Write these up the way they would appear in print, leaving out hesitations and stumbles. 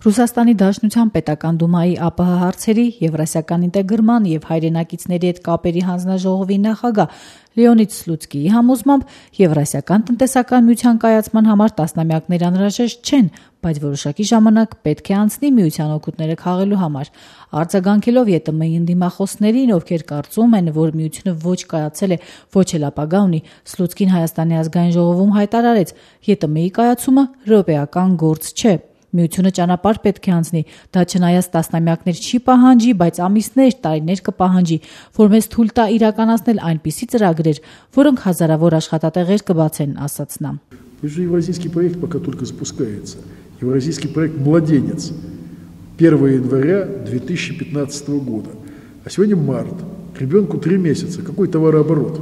Ռուսաստանի Դաշնության պետական դումայի ԱՊՀ հարցերի, եվրասիական ինտեգրման եւ հայրենակիցների հետ կապերի հանձնաժողովի նախագահ Լեոնիդ Սլուցկիի համոզմամբ Եվրասիական տնտեսական միության կայացման համար տասնամյակներ անհրաժեշտ չեն, բայց որոշակի ժամանակ պետք է անցնի միության օգուտները քաղելու համար։ Արձագանքելով ԵՏՄ-ի ընդդիմախոսներին, ովքեր կարծում են, որ միությունը ոչ կայացել է, ոչ էլ ապագա ունի, Սլուցկին Հայաստանի ազգային ժողովում հայտարարեց. ԵՏՄ-ի կայացումը րոպեական գործ չէ։ Միությունը ճանապարհ պետք է անցնի, դա չնայած տասնամյակներ չի պահանջի, բայց ամիսներ, տարիներ կպահանջի, որ մեզ թույլ տա իրականացնել այնպիսի ծրագրեր, որոնք հազարավոր աշխատատեղեր կբացեն, ասաց նա։ Евразийский проект пока только запускается. Евразийский проект «Младенец» 1 января 2015 года. А сегодня март. К ребенку 3 месяца. Какой товарооборот?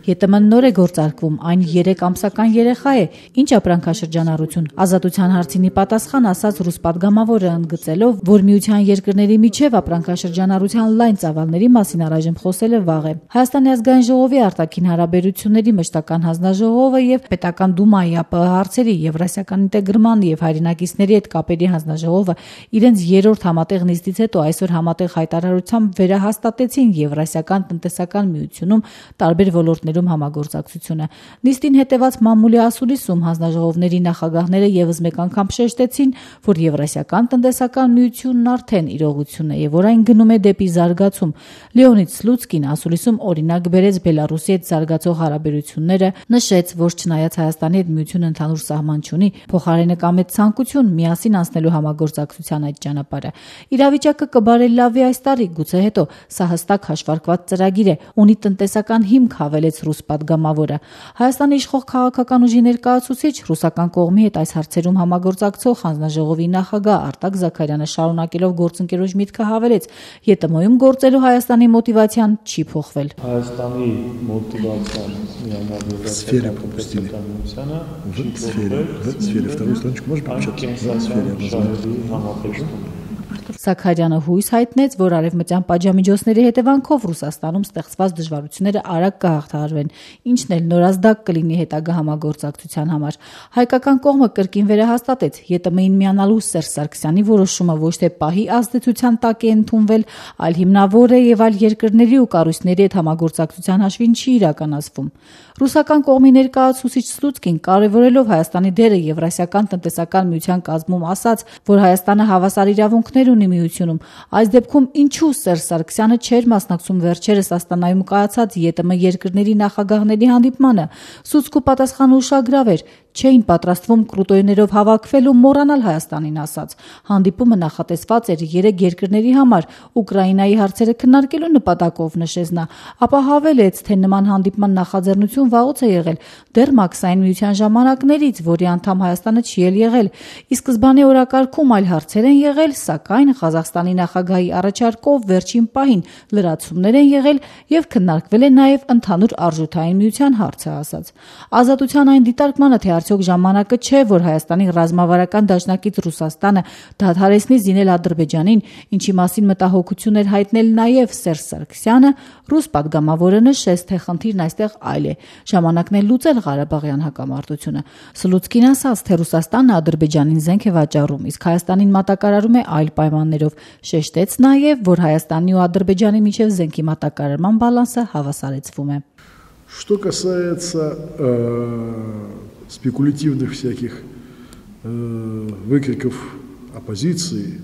ԵՏՄ-ն նոր է գործարկվում, այն 3 ամսական երեխա է, ինչ ապրանքաշրջանառություն։ Ազատության հարցինի պատասխան ասաց ռուս պատգամավորը, ընդգծելով, որ միության երկրների միջև ապրանքաշրջանառության լայն ծավալների մասին առայժմ խոսելը վաղ է։ Հայաստանի ազգային ժողովի արտաքին հարաբերությունների մշտական հանձնաժողովը եւ պետական դումայի ԱՊՀ հարցերի, եվրասիական ինտեգրման եւ հայրենակիցների հետ կապերի հանձնաժողովը իրենց երրորդ համատեղ նիստից հետո այսօր համատեղ հայտարարությամբ վերահաստատեցին Եվրասիական տնտեսական միությունում տարբեր ոլորտներ համագործակցությունը։ Նիստին հետևած մամուլի ասուլիսում հանձնաժողովների նախագահները եւս մեկ անգամ շեշտեցին, որ Եվրասիական տնտեսական միությունն արդեն իրողություն է եւ որ այն գնում է դեպի զարգացում։ Լեոնիդ Սլուցկին ասուլիսում օրինակ բերեց Բելարուսի հետ զարգացող հարաբերությունները, նշեց, որ չնայած Հայաստանի հետ միությունը ընդհանուր սահման չունի, փոխարենը կա մեծ ցանկություն միասին անցնելու համագործակցության այդ ճանապարհը։ Իրավիճակը կբարելավի այս տարի, գուցե հետո, սա հստակ հաշվարկված ծրագիր է, ունի տնտեսական հիմք, հավելեց ռուս պատգամավորը։ Հայաստանի իշխող քաղաքական ուժի ներկայացուցիչ ռուսական կողմի հետ այս հարցերում համագործակցող հանձնաժողովի նախագահ Արտակ Զաքարյանը շարունակելով գործընկերոջ միտքը հավելեց. ԵՏՄ-ում գործելու Հայաստանի մոտիվացիան չի փոխվել։ Հայաստանի մոտիվացիան Զաքարյանը հույս հայտնեց, որ արևմտյան պատժամիջոցների հետևանքով Ռուսաստանում ստեղծված դժվարությունները արագ կհաղթահարվեն, ինչն էլ նորազդակ կլինի հետագա համագործակցության համար։ Հայկական կողմը կրկին վերահաստատեց, ԵՏՄ-ին միանալու Սերժ Սարգսյանի որոշումը ոչ թե պահի ազդեցության տակ է ընդունվել, այլ հիմնավոր է եւ այլ երկրների ու կառույցների հետ համագործակցության հաշվին չի իրականացվում։ Ռուսական կողմի ներկայացուցիչ Սլուցկին կարևորելով Հայաստանի դերը Եվրասիական տնտեսական միության կազմում ասաց, որ Հայաստանը հավասար իրավունքներ ունի միությունում։ Այս դեպքում ինչու Սերժ Սարգսյանը չէր մասնակցում վերջերս Աստանայում կայացած ԵՏՄ երկրների նախագահների հանդիպմանը։ Սլուցկու պատասխանը ուշագրավ էր. չէին պատրաստվում կրուտոյներով հավաքվել ու մոռանալ Հայաստանին, ասաց։ Հանդիպումը նախատեսված էր 3 երկրների համար Ուկրաինայի հարցերը քննարկելու նպատակով, նշեց նա, ապա հավելեց, թե նման հանդիպման նախաձեռնություն վաղուց է եղել, դեռ Մաքսային միության ժամանակներից, որի անդամ Հայաստանը չի էլ եղել։ Ի սկզբանե օրակարգում այլ հարցեր են եղել, սակայն Ղազախստանի նախագահի առաջարկով վերջին պահին լրացումներ են եղել եւ քննարկվել է նաեւ ընդհանուր արժութային միության հարցը, ասաց։ Ազատության այն դիտարկմանը, թե արդյոք ժամանակը չէ, որ Հայաստանի ռազմավարական դաշնակից Ռուսաստանը դադարեցնի զինել Ադրբեջանին, ինչի մասին մտահոգություն էր հայտնել նաև Սերժ Սարգսյանը, ռուս պատգամավորը նշեց, թե խնդիրն այստեղ այլ է, ժամանակն է լուծել Ղարաբաղյան հակամարտությունը։ Սլուցկին ասաց, թե Ռուսաստանը Ադրբեջանին զենք է վաճառում, իսկ Հայաստանին մատակարարում է այլ պայմաններով, шештեց նաև, որ Հայաստանի ու Ադրբեջանի միջև զենքի մատակարարման բալանսը հավասարեցվում է։ Что касается спекулятивных всяких выкриков оппозиции,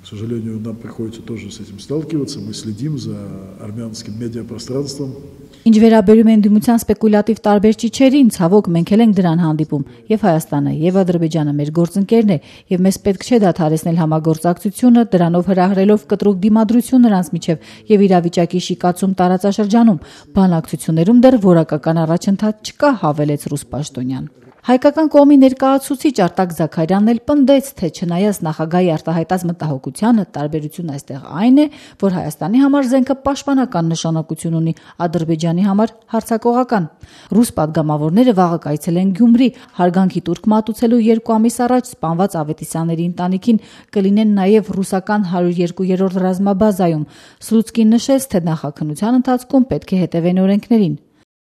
к сожалению, нам приходится тоже с этим сталкиваться. Мы следим за армянским медиапространством. Ինչ վերաբերում է ընդդիմության սպեկուլյատիվ տարբեր ճիչերին, ցավոք մենք էլ ենք դրան հանդիպում, եւ Հայաստանը, եւ Ադրբեջանը մեր գործընկերն է, եւ մեզ պետք չէ դադարեցնել համագործակցությունը, դրանով հրահրելով կտրուկ դիմադրություն նրանց միջև եւ իրավիճակի շիկացում տարածաշրջանում։ Բանակցություններում դեռ որակական առաջընթաց չկա, հավելեց ռուս պաշտոնյան։ Հայկական կողմի ներկայացուցիչ Արտակ Զաքարյանն էլ պնդեց, թե չնայած նախագահի արտահայտած մտահոգությանը, տարբերությունն այստեղ այն է, որ Հայաստանի համար զենքը պաշտպանական նշանակություն ունի, Ադրբեջանի համար հարձակողական։ Ռուս պատգամավորները վաղը կայցելեն Գյումրի, հարգանքի տուրք մատուցելու 2 ամիս առաջ սպանված Ավետիսյանների ընտանիքին կլինեն նաև ռուսական 102-րդ ռազմաբազայում։ Սլուցկին նշեց, թե նախաքննության ընթացքում պետք է հետևեն օրենքներին։